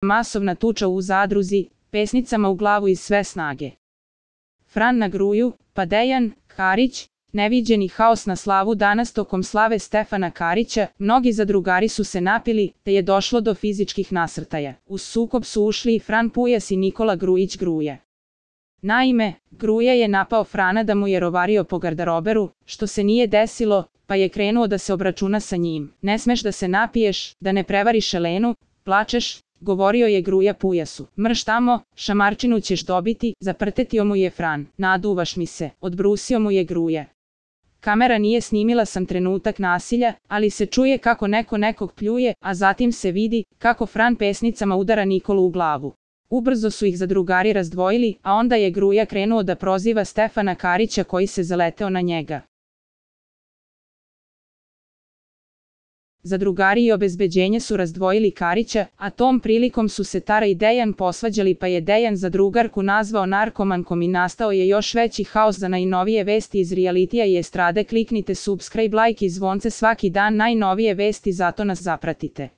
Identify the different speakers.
Speaker 1: masovna tuča u zadruzi, pesnicama u glavu iz sve snage. Fran na Gruju, pa Dejan, Karić, neviđeni haos na slavu danas tokom slave Stefana Karića, mnogi zadrugari su se napili, te je došlo do fizičkih nasrtaja. U sukob su ušli i Fran Pujas i Nikola Grujić Gruja. Naime, Gruja je napao Frana da mu je rovario po garderoberu, što se nije desilo, pa je krenuo da se obračuna sa njim. Ne smeš da se napiješ, da ne prevariš Elenu, plačeš, govorio je Gruja Pujasu. Mrš tamo, šamarčinu ćeš dobiti, zaprtetio mu je Fran. Naduvaš mi se, odbrusio mu je Gruja. Kamera nije snimila sam trenutak nasilja, ali se čuje kako neko nekog pljuje, a zatim se vidi kako Fran pesnicama udara Nikolu u glavu. Ubrzo su ih zadrugari razdvojili, a onda je Gruja krenuo da proziva Stefana Karića koji se zaleteo na njega. Zadrugari i obezbeđenje su razdvojili Karića, a tom prilikom su se Tara i Dejan posvađali, pa je Dejan zadrugarku nazvao narkomankom i nastao je još veći haos. Za najnovije vesti iz realitija i estrade kliknite subscribe, like i zvonce svaki dan, najnovije vesti, zato nas zapratite.